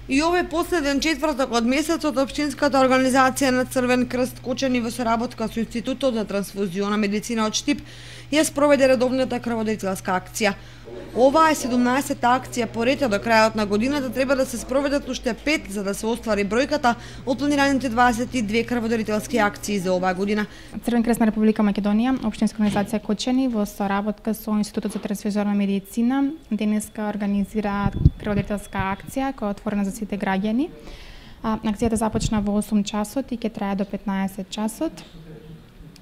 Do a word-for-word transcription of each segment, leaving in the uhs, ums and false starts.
И овој последен четврток од месецот, Општинската организација на Црвен крст Кочани во соработка со Институтот за трансфузиона медицина од Штип ја спроведе редовната крводарителска акција. Оваа е седумнаесетта акција по ред, до крајот на годината треба да се спроведат уште пет за да се оствари бројката од планираните дваесет и две крводарителски акции за оваа година. Црвен крст на Република Македонија, Општинска организација Кочани во соработка со Институтот за трансфузиона медицина денеска организира крводарителска акција која е отворена за сите граѓани. Акцијата започна во осум часот и ќе трае до петнаесет часот.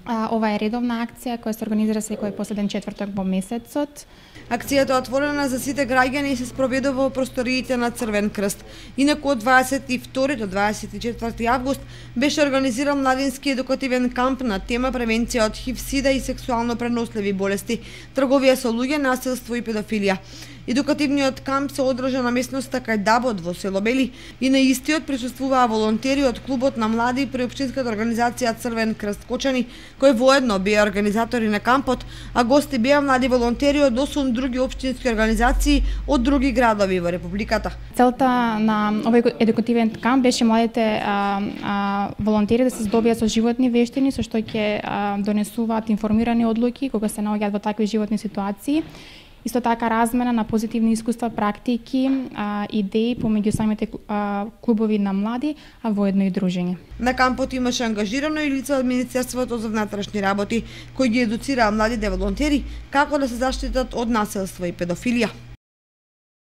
Ова е редовна акција која се организира секој последен четврток во месецот. Акцијата е отворена за сите граѓани и се спроведува во просториите на Црвен крст. Инаку од дваесет и втори до дваесет и четврти август беше организиран младински едукативен камп на тема превенција од ХИВ, СИДА и сексуално преносливи болести, трговија со луѓе, насилство и педофилија. Едукативниот камп се одржа на местноста кај Дабот во село Бели и на истиот присуствуваа волонтери од клубот на млади при Општинската организација Црвен крст Кочани, кои воедно беа организатори на кампот, а гости беа млади волонтери од осум други општински организации од други градови во републиката. Целта на овој едукативен камп беше младите а, а, волонтери да се здобијат со животни вештини со што ќе донесуваат информирани одлуки кога се наоѓаат во такви животни ситуации. Исто така размена на позитивни искуства, практики, а, идеи помеѓу самите а, клубови на млади, а воедно и дружење. На кампот имаше ангажирано и лица од Министерството за внатрешни работи, кои ги едуцираа младите волонтери како да се заштитат од насилство и педофилија.